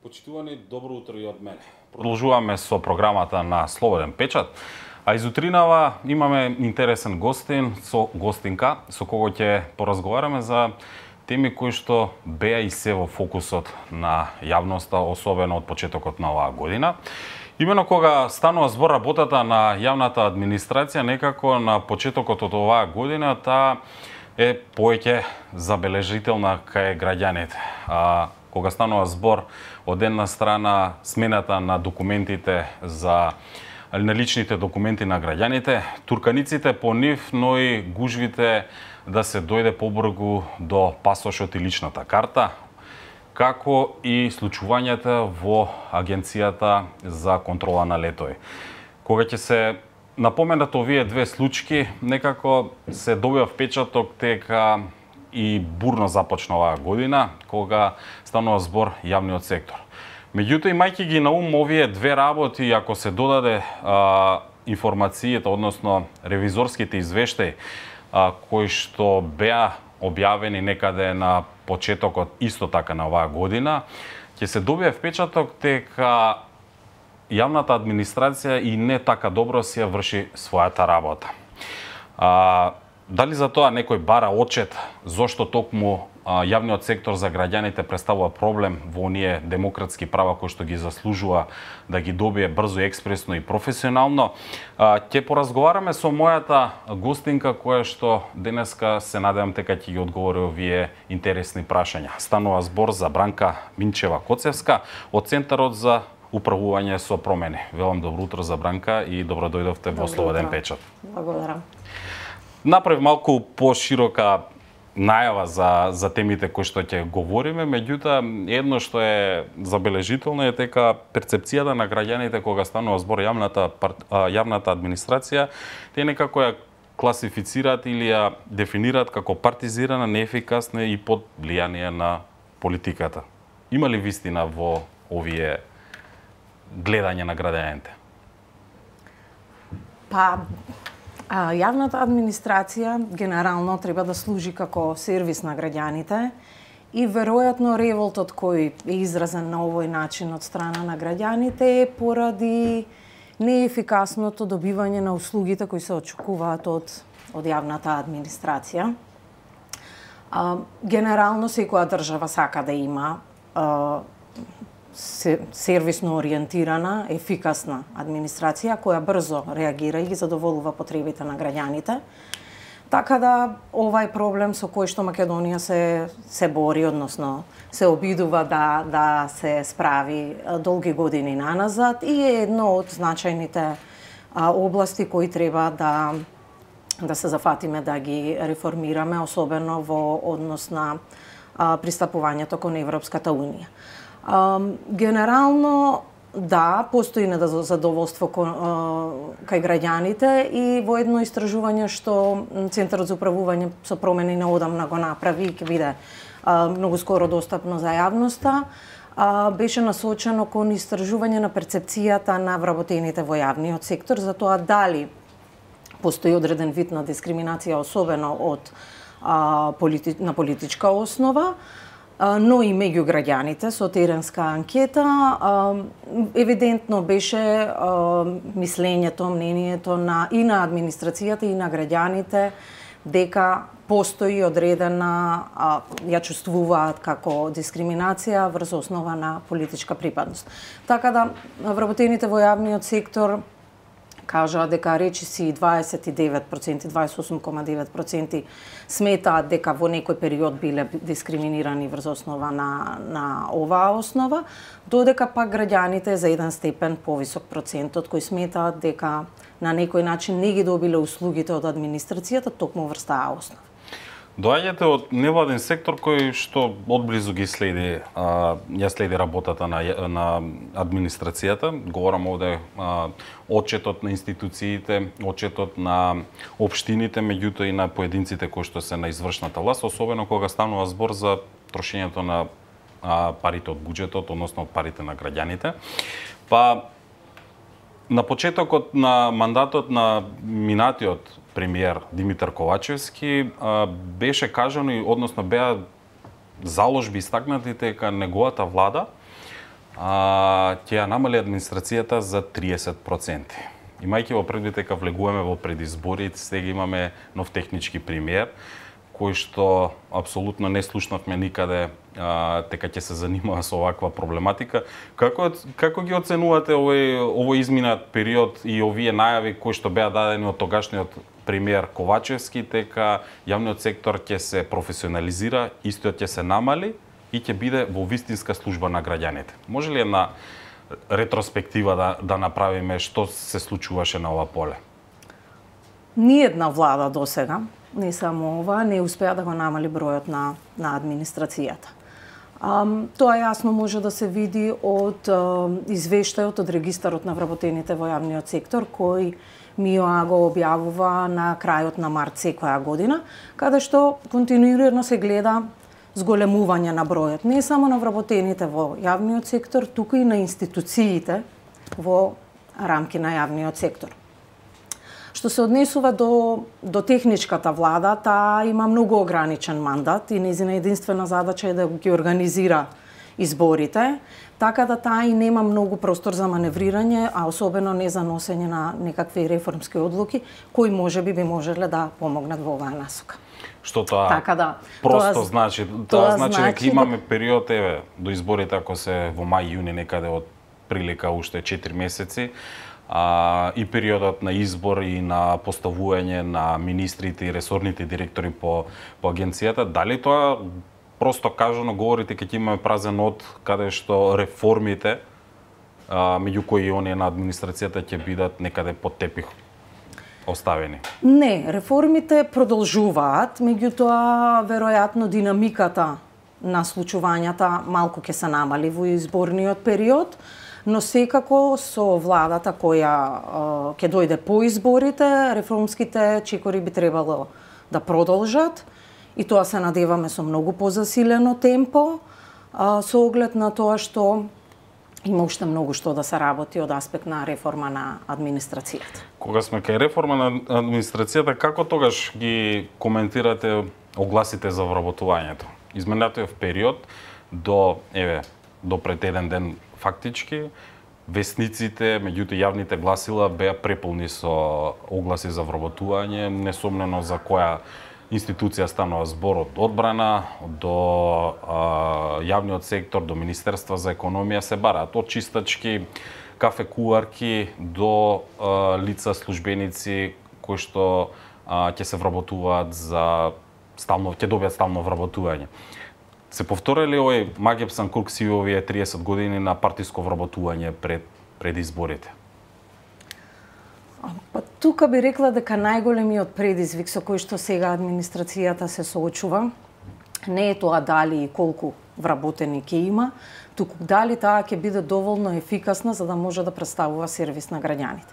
Почитувани, добро утро и од мене. Продолжуваме со програмата на Слободен печат, а изутринава имаме интересен гостинка со кого ќе поразговараме за теми кои што беа и се во фокусот на јавноста, особено од почетокот на оваа година. Имено кога станува збор работата на јавната администрација, некако на почетокот од оваа година таа е повеќе забележителна кај граѓаните. Кога станува збор од една страна смената на документите на личните документи на граѓаните, турканиците по нив, но и гужвите да се дојде побрзо до пасошот и личната карта, како и случувањата во Агенцијата за контрола на летови. Кога ќе се напоменат овие две случаи, некако се добива впечаток дека и бурно започна оваа година, кога станува збор јавниот сектор. Меѓутоа, имајќи ги на ум овие две работи, ако се додаде информацијата, односно ревизорските извештаи, кои што беа објавени некаде на почетокот исто така на оваа година, ќе се добие впечаток дека јавната администрација и не така добро си ја врши својата работа. Дали за тоа некој бара отчет зошто токму јавниот сектор за граѓаните представува проблем во оние демократски права кои што ги заслужува да ги добие брзо, експресно и професионално? Ќе поразговараме со мојата гостинка која што денеска се надевам дека ќе ги одговори овие интересни прашања. Станува збор за Бранка Минчева-Коцевска од Центарот за управување со промени. Велам добро утро за Бранка и добро дојдовте во Слободен печат. Благодарам. Направи малку поширока најава за темите кои што ќе говориме, меѓутоа едно што е забележително е дека перцепцијата на граѓаните кога станува збор јавната администрација, те некако ја класифицираат или ја дефинираат како партизирана, неефикасна и под влијание на политиката. Има ли вистина во овие гледање на граѓаните? Јавната администрација генерално треба да служи како сервис на граѓаните и веројатно револтот кој е изразен на овој начин од страна на граѓаните е поради неефикасното добивање на услугите кои се очекуваат од јавната администрација. Генерално секоја држава сака да има сервисно ориентирана, ефикасна администрација која брзо реагира и ги задоволува потребите на граѓаните. Така да овај проблем со кој што Македонија се бори, односно се обидува да се справи долги години наназад и е едно од значајните области кои треба да се зафатиме да ги реформираме, особено во однос на пристапувањето кон Европската унија. Генерално, да, постои незадоволство кај граѓаните и во едно истражување што Центарот за управување со промени неодамна го направи и ќе биде многу скоро достапно за јавноста, беше насочено кон истражување на перцепцијата на вработените во јавниот сектор за тоа дали постои одреден вид на дискриминација, особено на политичка основа, но и меѓу граѓаните со теренска анкета. Евидентно беше мислењето, мнението и на администрацијата и на граѓаните дека постои одредена, ја чувствуваат како дискриминација врз основа на политичка припадност. Така да вработените во јавниот сектор кажаа дека речиси 28,9% сметаат дека во некој период биле дискриминирани врз основа на оваа основа, додека пак граѓаните за еден степен повисок процентот кои сметаат дека на некој начин не ги добиле услугите од администрацијата токму врз таа основа. Доаѓате од невладин сектор кој што одблизу ја следи работата на администрацијата. Говорам овде отчетот на институциите, отчетот на општините, меѓутоа и на поединците кои што се на извршната власт, особено кога станува збор за трошењето на парите од буџетот, односно од парите на граѓаните. На почетокот на мандатот на минатиот премиер Димитар Ковачевски беше кажано, односно беа заложби истакнати дека неговата влада ќе ја намали администрацијата за 30%. Имајќи во предвид дека влегуваме во предизбори, сега имаме нов технички пример, кој што апсолутно не слушнавме никаде дека ќе се занимава со оваква проблематика. Како ги оценувате овој изминат период и овие најави кои што беа дадени од тогашниот премиер Ковачевски, дека јавниот сектор ќе се професионализира, истиот ќе се намали и ќе биде во вистинска служба на граѓаните? Може ли една ретроспектива да направиме што се случуваше на ова поле? Ниедна влада досега, не само ова, не успеа да го намали бројот на администрацијата. Тоа јасно може да се види од извештајот од регистарот на вработените во јавниот сектор, кој МИОА го објавува на крајот на март секоја година, каде што континуирано се гледа зголемување на бројот, не само на вработените во јавниот сектор, туку и на институциите во рамки на јавниот сектор. Што се однесува до техничката влада, таа има многу ограничен мандат и нејзина единствена задача е да ги организира изборите, така да таа и нема многу простор за маневрирање, а особено не за носење на некакви реформски одлуки, кои можеби би можеле да помогнат во оваа насока. Што тоа така да, просто значи? Тоа значи дека имаме период, до изборите, ако се во мај-јуни некаде од прилика уште 4 месеци, и периодот на избор и на поставување на министрите и ресорните директори по агенцијата, дали тоа просто кажано говорите дека ќе имаме празен од каде што реформите меѓу кои и оние на администрацијата ќе бидат некаде под тепих оставени? Не, реформите продолжуваат, меѓутоа веројатно динамиката на случувањата малку ќе се намали во изборниот период, но секако со владата која ќе дојде по изборите, реформските чекори би требало да продолжат и тоа се надеваме со многу позасилено темпо, со оглед на тоа што има уште многу што да се работи од аспект на реформа на администрацијата. Кога сме кај реформа на администрацијата, како тогаш ги коментирате огласите за вработувањето? Изминатиот период до пред еден ден фактички, весниците, меѓутоа јавните гласила беа преполни со огласи за вработување, несомнено за која институција станува збор, од одбрана до јавниот сектор, до Министерство за економија се бараат, од чистачки, кафе куварки до лица службеници кои што ќе се вработуваат ќе добијат стално вработување. Се повторили овој магепсан круг си овие 30 години на партиско вработување пред изборите? Па тука би рекла дека најголемиот предизвик со кој што сега администрацијата се соочува не е тоа дали и колку вработени ќе има, туку дали таа ќе биде доволно ефикасна за да може да представува сервис на граѓаните.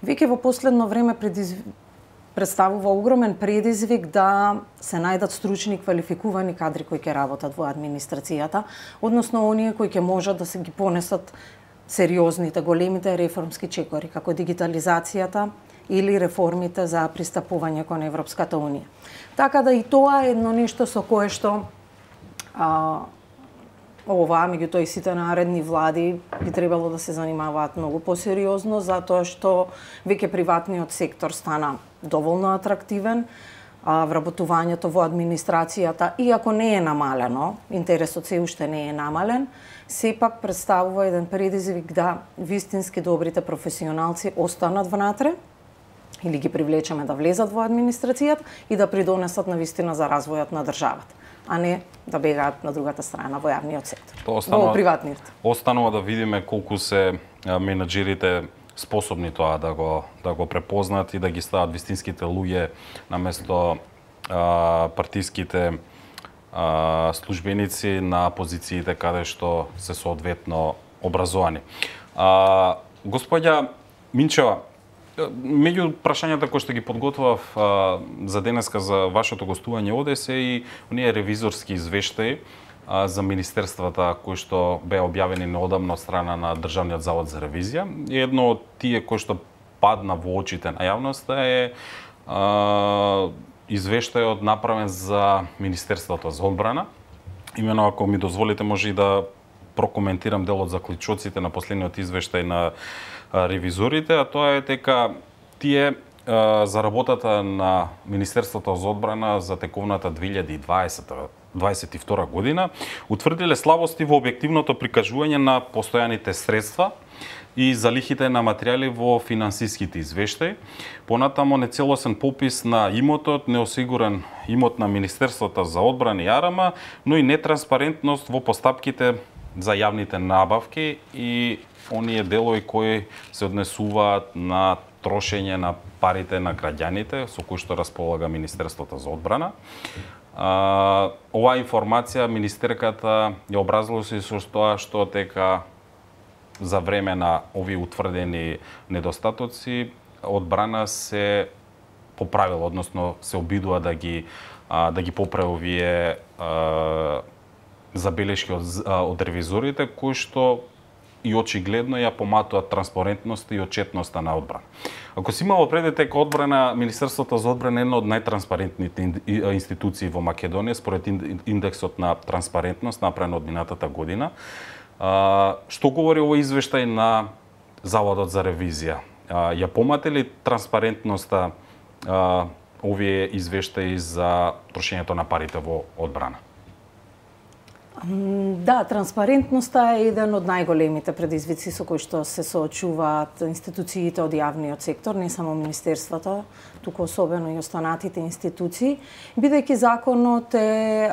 Веќе во последно време представува огромен предизвик да се најдат стручни и квалификувани кадри кои ќе работат во администрацијата, односно оние кои ќе можат да се ги понесат сериозните, големите реформски чекори, како дигитализацијата или реформите за пристапување кон Европската Унија. Така да и тоа е едно нешто со кое што ова, меѓутоа и сите наредни влади би требало да се занимаваат многу посериозно, затоа што веќе приватниот сектор стана доволно атрактивен, вработувањето во администрацијата, иако не е намалено, интересот се уште не е намален, сепак представува еден предизвик да вистински добрите професионалци останат внатре или ги привлечеме да влезат во администрацијата и да придонесат на вистина за развојот на државата, а не да бегаат на другата страна во јавниот сектор, во приватниот. Останува да видиме колку се менаџерите способни тоа да го препознаат и да ги стават вистинските луѓе наместо партиските службеници на позициите каде што се соодветно образовани. Господја Минчева, меѓу прашањата кои што ги подготвав за денеска за вашето гостување оде се и оние ревизорски извештаи за министерствата кои што беа објавени неодамно од страна на Државниот завод за ревизија. И едно од тие кои што падна во очите на јавноста е извештајот направен за Министерството за одбрана. Имено, ако ми дозволите, може и да прокоментирам дел од заклучоците на последниот извештај на ревизорите, а тоа е дека тие за работата на Министерството за одбрана за тековната 2022 година утврдиле слабости во објективното прикажување на постојаните средства и залихите на материјали во финансиските извештаи. Понатамо нецелосен попис на имотот, неосигурен имот на Министерството за одбрана и АРМ, но и нетранспарентност во постапките за јавните набавки и оние делови кои се однесуваат на трошење на парите на граѓаните со кои што располага Министерството за одбрана. Оваа информација министерката ја образлоси со тоа што дека за време на овие утврдени недостатоци одбрана се поправила, односно се обидува да ги поправи овие забелешки од ревизорите кои што и очигледно ја поматуваат транспарентноста и отчетноста на одбрана. Ако си имало предвид дека одбрана, Министерството за одбрана е една од најтранспарентните институции во Македонија според индексот на транспарентност направен од минатата година, што говори овој извештај на Заводот за ревизија? Ја помате ли транспарентноста овие извештаи за трошењето на парите во одбрана? Да, транспарентноста е еден од најголемите предизвици со кои што се соочуваат институциите од јавниот сектор, не само министерствата, туку особено и останатите институции, бидејќи законот е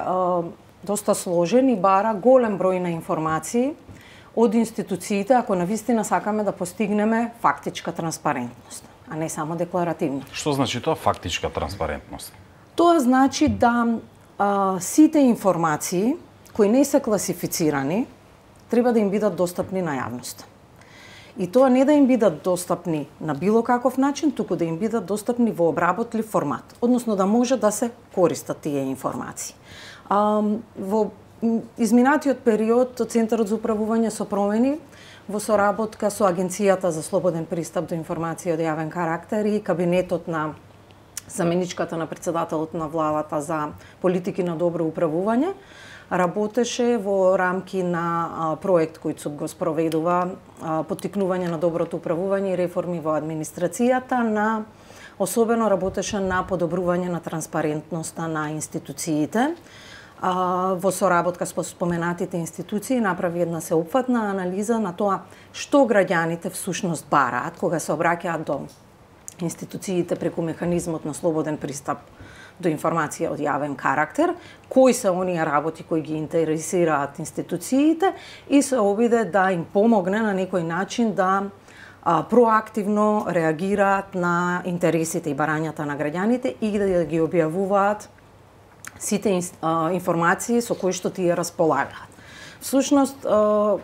доста сложен и бара голем број на информации од институциите ако навистина сакаме да постигнеме фактичка транспарентност, а не само декларативна. Што значи тоа фактичка транспарентност? Тоа значи да сите информации кои не се класифицирани, треба да им бидат достапни на јавноста. И тоа не да им бидат достапни на било каков начин, туку да им бидат достапни во обработлив формат, односно да може да се користат тие информации. Во изминатиот период Центарот за управување со промени во соработка со Агенцијата за слободен пристап до информации од јавен карактер и кабинетот на заменичката на председателот на владата за политики на добро управување, работеше во рамки на проект кој ЦУП го спроведува поттикнување на доброто управување и реформи во администрацијата, особено работеше на подобрување на транспарентноста на институциите. Во соработка со споменатите институции направи една сеопфатна анализа на тоа што граѓаните всушност бараат кога се обраќаат до институциите преку механизмот на слободен пристап до информација од јавен карактер, кои се оние работи кои ги интересираат институциите и се обиде да им помогне на некој начин да проактивно реагираат на интересите и барањата на граѓаните и да ги објавуваат сите информации со кои што тие располагаат. Всушност,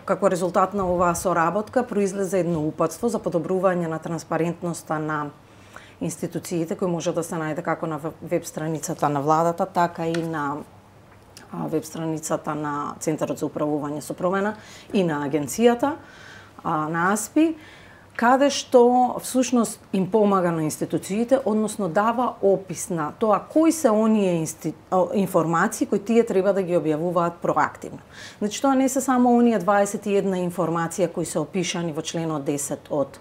како резултат на оваа соработка, произлезе едно упатство за подобрување на транспарентноста на институциите, кој може да се најде како на веб страницата на владата, така и на веб страницата на Центарот за управување со промена и на агенцијата, на АСПИ, каде што всушност им помага на институциите, односно дава опис на тоа кои се оние информации кои тие треба да ги објавуваат проактивно. Значи тоа не се само оние 21 информација кои се опишани во членот 10 од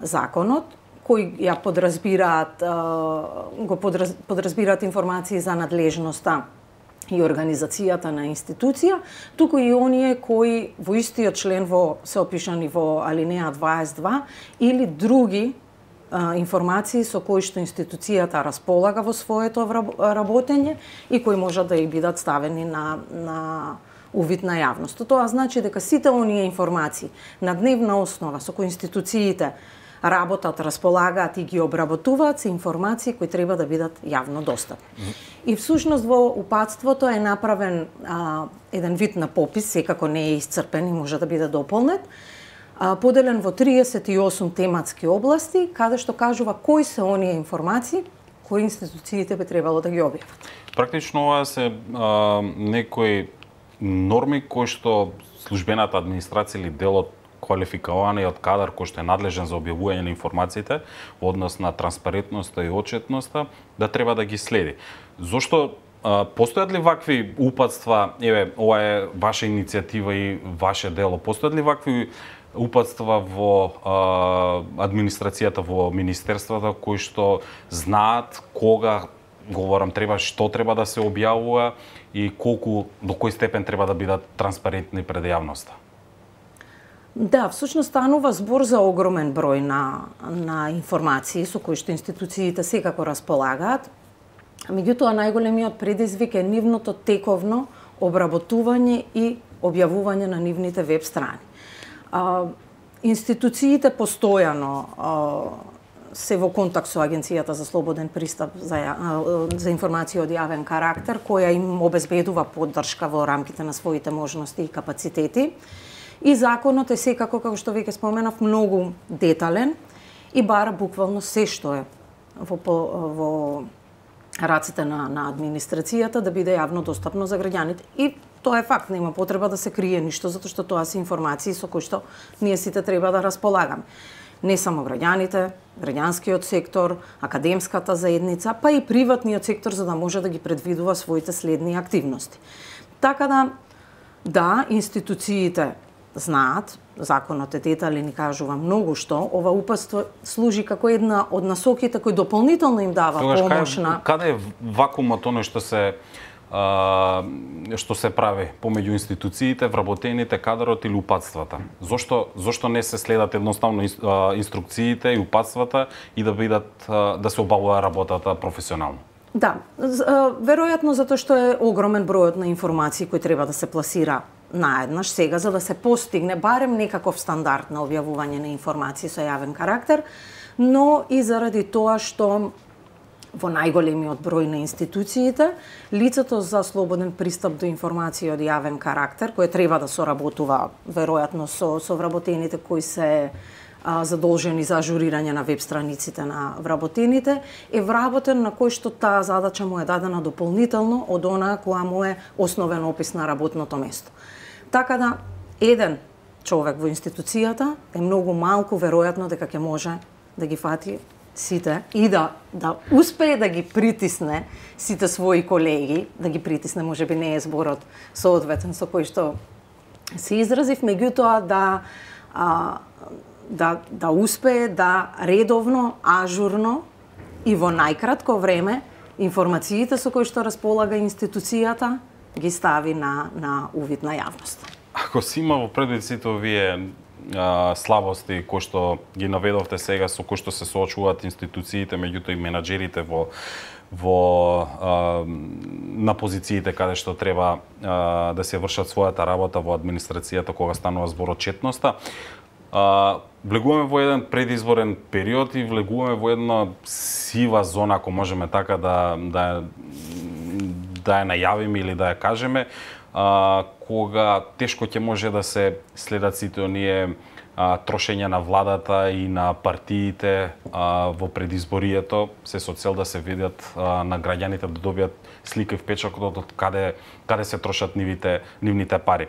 законот, кои ја подразбираат информации за надлежноста и организацијата на институција, туку и оние кои во истиот член се опишани во алинеја 22 или други информации со кои што институцијата располага во своето работење и кои можат да и бидат ставени на увид на јавност. Тоа значи дека сите оние информации на дневна основа со кои институциите работат, располагаат и ги обработуваат се информации кои треба да бидат јавно достапни. И всушност во упатството е направен еден вид на попис, секако не е исцрпен и може да биде дополнет, поделен во 38 тематски области, каде што кажува кои се оние информации кои институциите би требало да ги објават. Практично ова се некои норми кои што службената администрација или делот квалификуваниот кадар кој што е надлежен за објавување на информациите во однос на транспарентноста и отчетноста да треба да ги следи. Зошто Постојат ли вакви упатства, еве, ова е ваша иницијатива и ваше дело, постојат ли вакви упатства во администрацијата, во министерствата, кои што знаат кога, говорам, што треба да се објавува и до кој степен треба да бидат транспарентни пред јавноста? Да, всушност станува збор за огромен број на информации со кои што институциите секако располагаат. Меѓутоа, најголемиот предизвик е нивното тековно обработување и објавување на нивните веб страни. Институциите постојано се во контакт со Агенцијата за слободен пристап за информации од јавен карактер, која им обезбедува поддршка во рамките на своите можности и капацитети. И законот е секако, како што веќе споменав, многу детален и бара буквално се што е во раците на администрацијата да биде јавно достапно за граѓаните. И тоа е факт, нема потреба да се крие ништо, затоа што тоа се информации со кои што ние сите треба да располагаме. Не само граѓаните, граѓанскиот сектор, академската заедница, па и приватниот сектор, за да може да ги предвидува своите следни активности. Така да, институциите знаат, законот е детален и кажува многу што, ова упатство служи како една од насоките кои дополнително им дава помош на... Каде е вакуумот, оно што се прави помеѓу институциите, вработените, кадрот или упатствата? Зошто не се следат едноставно инструкциите и упатствата и да се обавува работата професионално? Да, веројатно затоа што е огромен бројот на информации кои треба да се пласира наеднаш сега, за да се постигне барем некаков стандард на објавување на информации со јавен карактер, но и заради тоа што во најголемиот број на институциите, лицето за слободен пристап до информации од јавен карактер, кој треба да соработува веројатно со вработените кои се задолжени за ажурирање на веб страниците на вработените, е вработен на кој што таа задача му е дадена дополнително од онаа која му е основен опис на работното место. Така да, еден човек во институцијата е многу малку веројатно дека ќе може да ги фати сите и да успее да ги притисне сите своји колеги, да ги притисне, можеби не е зборот соодветен со кој што се изразив, меѓутоа да успее да редовно, ажурно и во најкратко време информациите со кои што располага институцијата ги стави на увид на јавност. Ако си има во предвид сите овие слабости кои што ги наведовте сега, со кои што се соочуваат институциите, меѓутоа и менаџерите на позициите каде што треба да се вршат својата работа во администрацијата кога станува збор од четноста, влегуваме во еден предизборен период и влегуваме во една сива зона, ако можеме така да ја најавиме или да ја кажеме, кога тешко ќе може да се следат сите оние трошења на владата и на партиите во предизборието, се со цел да се видат на граѓаните, да добијат слика и впечаток од каде се трошат нивните пари.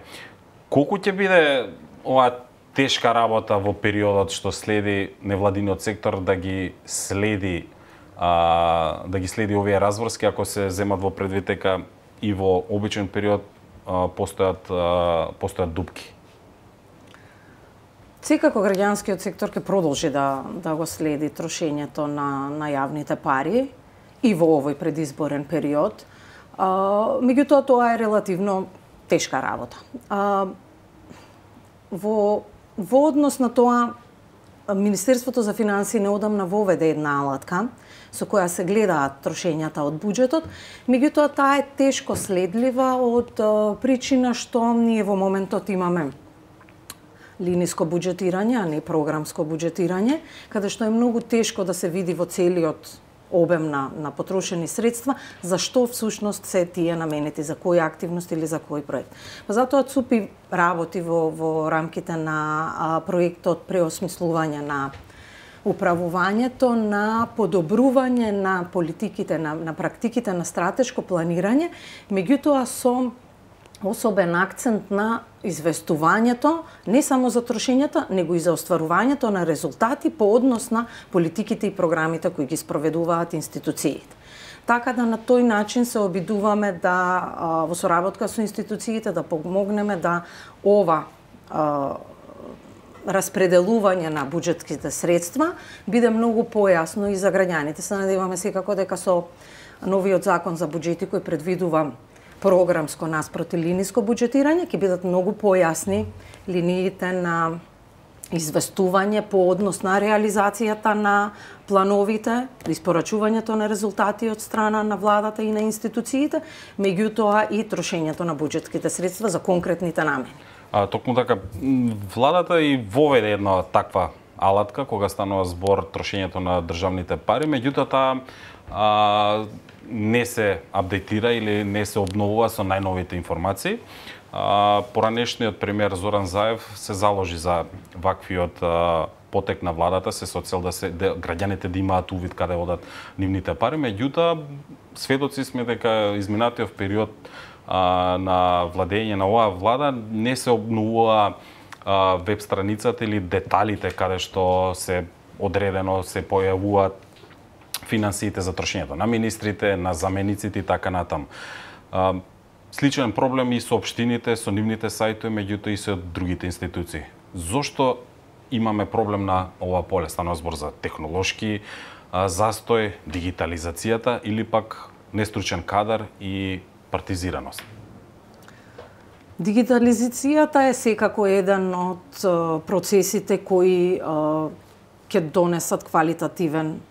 Колку ќе биде оваа тешка работа во периодот што следи невладиниот сектор да ги следи овие разврски, ако се земат во предвид дека и во обичен период постојат дупки? Секако граѓанскиот сектор ќе продолжи да го следи трошењето на јавните пари и во овој предизборен период. Меѓутоа, тоа е релативно тешка работа. Во однос на тоа, Министерството за финансии неодамна воведе една алатка со која се гледаат трошењата од буџетот, меѓутоа таа е тешко следлива од причина што ние во моментот имаме линиско буџетирање, а не програмско буџетирање, каде што е многу тешко да се види во целиот обем на потрошени средства, за што всушност се тие наменети, за која активност или за кој проект. Затоа ЦУПИ работи во рамките на проектот преосмислување на управувањето, на подобрување на политиките, на практиките на стратешко планирање, меѓутоа со особен акцент на известувањето не само за трошењата, него и за остварувањето на резултати по однос на политиките и програмите кои ги спроведуваат институциите. Така да на тој начин се обидуваме да во соработка со институциите да помогнеме да ова распределување на буџетските средства биде многу појасно и за граѓаните. Се надеваме секако дека со новиот закон за буџети кој предвидува програмско наспроти линиско буџетирање ќе бидат многу појасни линиите на известување по однос на реализацијата на плановите, испорачувањето на резултати од страна на владата и на институциите, меѓутоа и трошењето на буџетските средства за конкретните намени. Токму така, владата и воведе една таква алатка кога станува збор трошењето на државните пари, меѓутоа таа не се апдейтира или не се обновува со најновите информации. Поранешниот премиер Зоран Заев се заложи за ваквиот потек на владата со цел да граѓаните да имаат увид каде одат нивните пари, меѓутоа сведоци сме дека изминатиот период на владење на оваа влада не се обновува веб страницата или деталите каде што се одредено се појавуваат финансиите за трошењето на министрите, на замениците и така натаму. Сличен проблем и со општините, со нивните сајтови, меѓутоа и со другите институции. Зошто имаме проблем на ова поле? Станува збор за технолошки застој, дигитализацијата или пак нестручен кадар и партизираност? Дигитализацијата е секако еден од процесите кои ќе донесат квалитативен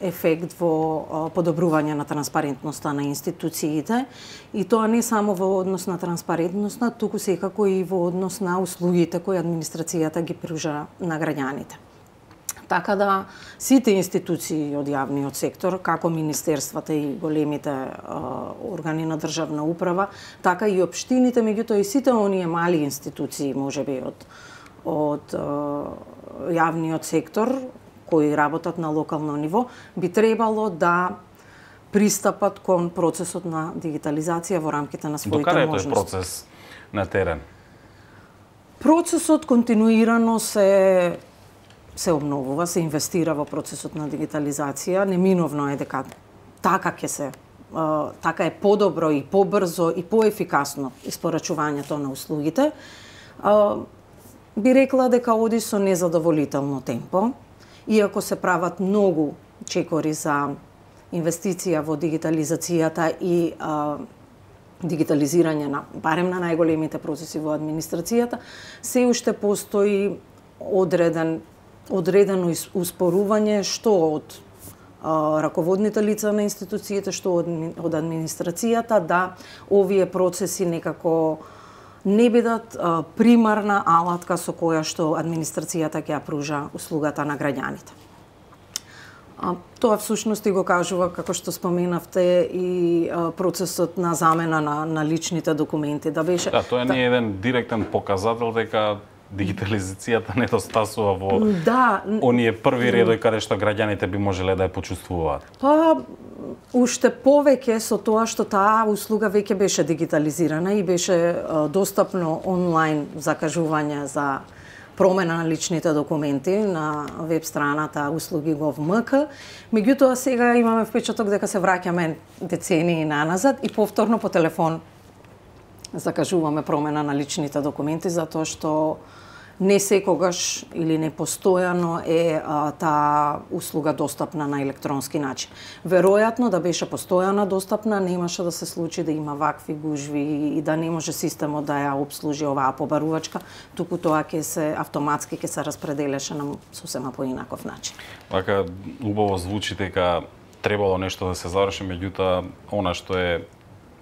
ефект во подобрување на транспарентноста на институциите и тоа не само во однос на транспарентноста, туку секако и во однос на услугите кои администрацијата ги пружа на граѓаните. Така да сите институции од јавниот сектор, како министерствата и големите органи на државна управа, така и општините, меѓутоа и сите оние мали институции, можеби од јавниот сектор, кои работат на локално ниво, би требало да пристапат кон процесот на дигитализација во рамките на своите можности. Докаде е тој процес на терен? Процесот континуирано се обновува, се инвестира во процесот на дигитализација. Неминовно е дека така е подобро и побрзо и поефикасно испорачувањето на услугите. Би рекла дека оди со незадоволително темпо. Иако се прават многу чекори за инвестиција во дигитализацијата и дигитализирање на барем на најголемите процеси во администрацијата, се уште постои одредено успорување што од раководните лица на институциите, што од администрацијата, да овие процеси некако не бидат примарна алатка со која што администрацијата ќе ја пружа услугата на граѓаните. Тоа всушност и го кажува, како што споменавте, и процесот на замена на личните документи. Да, тоа не е еден директен показател дека дигитализацијата недостасува во оние први редови каде што граѓаните би можеле да ја почувствуваат. Па, уште повеќе со тоа што таа услуга веќе беше дигитализирана и беше достапно онлайн закажување за промена на личните документи на веб страната услуги.gov.mk. Меѓутоа сега имаме впечаток дека се враќаме децении наназад и повторно по телефон закажуваме промена на личните документи затоа што не секогаш или не постојано е таа услуга достапна на електронски начин. Веројатно да беше постојано достапна, немаше да се случи да има вакви гужви и да не може системот да ја обслужи оваа побарувачка, туку тоа ќе се автоматски ќе се распределеше на сосема поинаков начин. Вака убаво звучи дека требало нешто да се заврши, меѓутоа она што е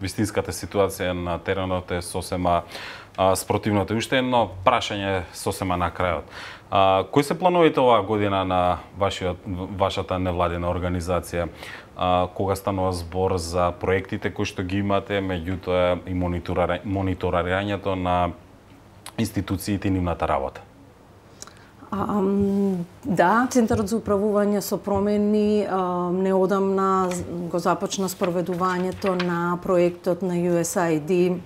вистинската ситуација на теренот е сосема спротивното. Уште едно прашање сосема на крајот. Кои се плановите оваа година на вашата невладина организација? Кога станува збор за проектите кои што ги имате, меѓутоа и мониторирањето на институциите и нивната работа? Да, Центарот за управување со промени неодамна го започна спроведувањето на проектот на USAID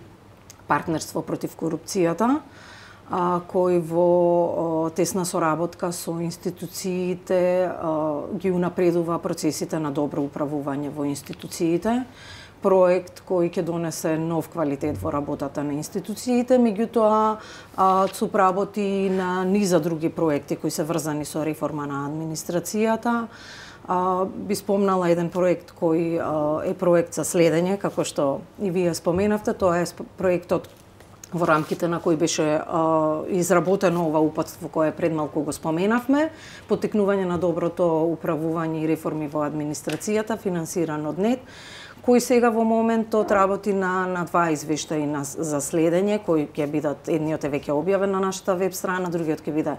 партнерство против корупцијата. кој во тесна соработка со институциите ги унапредува процесите на добро управување во институциите. Проект кој ќе донесе нов квалитет во работата на институциите, меѓутоа ЦУП работи на низа други проекти кои се врзани со реформа на администрацијата. Би спомнала еден проект кој е проект за следење, како што и вие споменавте, тоа е проектот во рамките на кој беше изработено ова упатство кое пред малку го споменавме, поттикнување на доброто управување и реформи во администрацијата, финансиран од НЕД, кој сега во моментот работи на два извештаи за следење, кои ќе бидат, едниот е веќе објавен на нашата веб страна, другиот ќе биде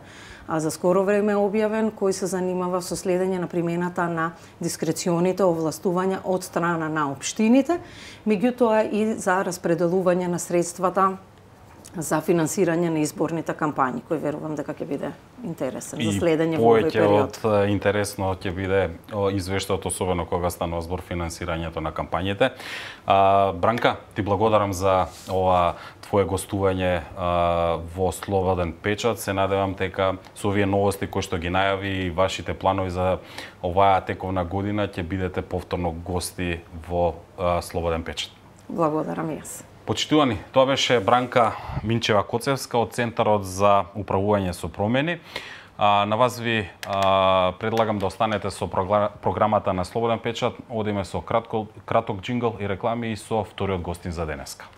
за скоро време објавен, кој се занимава со следење на примената на дискреционите овластувања од страна на општините, меѓутоа и за распределување на средствата за финансирање на изборните кампањи, кој верувам дека ќе биде интересен за следење во овој период. И повеќе од интересно ќе биде извештајот, особено кога станува збор финансирањето на кампањите. Бранка, ти благодарам за ова твое гостување во Слободен печат. Се надевам дека со овие новости кои што ги најави и вашите планови за оваа тековна година ќе бидете повторно гости во Слободен печат. Благодарам и јас. Почитувани, тоа беше Бранка Минчева-Коцевска од Центарот за управување со промени. На вас ви предлагам да останете со програмата на Слободен печат. Одиме со краток џингл и реклами и со вториот гостин за денеска.